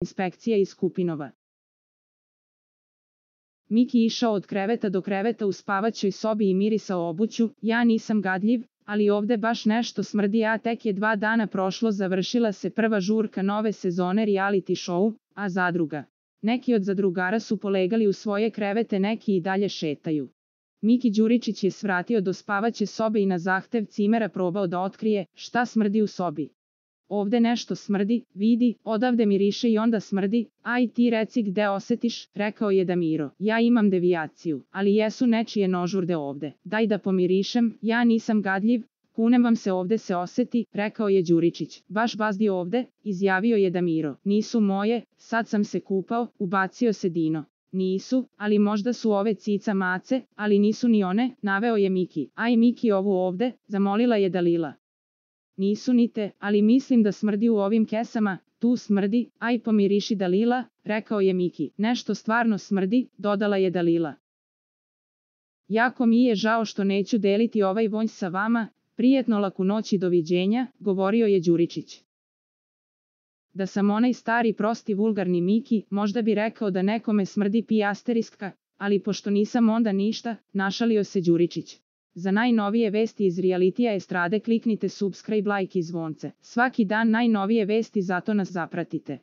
inspekcija iz Kupinova. Miki išao od kreveta do kreveta u spavaćoj sobi i mirisao obuću. Ja nisam gadljiv, ali ovde baš nešto smrdi, a tek je 2 dana prošlo, završila se prva žurka nove sezone reality show, a zadruga. Neki od zadrugara su polegali u svoje krevete, neki i dalje šetaju. Miki Đuričić je svratio do spavaće sobe i na zahtev cimera probao da otkrije šta smrdi u sobi. Ovde nešto smrdi, vidi, odavde miriše i onda smrdi, aj ti reci gde osetiš, rekao je Damiro. Ja imam devijaciju, ali jesu nečije nožurde ovde, daj da pomirišem, ja nisam gadljiv, kunem vam se ovde se oseti, rekao je Đuričić. Baš bazdi ovde, izjavio je Damiro. Nisu moje, sad sam se kupao, ubacio se Dino. Nisu, ali možda su ove cica mace, ali nisu ni one, naveo je Miki. Aj Miki ovu ovde, zamolila je Dalila. Nisu ni te, ali mislim da smrdi u ovim kesama, tu smrdi, aj pomiriši Dalila, rekao je Miki. Nešto stvarno smrdi, dodala je Dalila. Jako mi je žao što neću deliti ovaj vonj sa vama, prijetno laku noć i doviđenja, govorio je Đuričić. Da sam onaj stari prosti vulgarni Miki, možda bi rekao da nekome smrdi ***, ali pošto nisam onda ništa, našalio se Đuričić. Za najnovije vesti iz realitija estrade kliknite subscribe, like i zvonce. Svaki dan najnovije vesti, zato nas zapratite.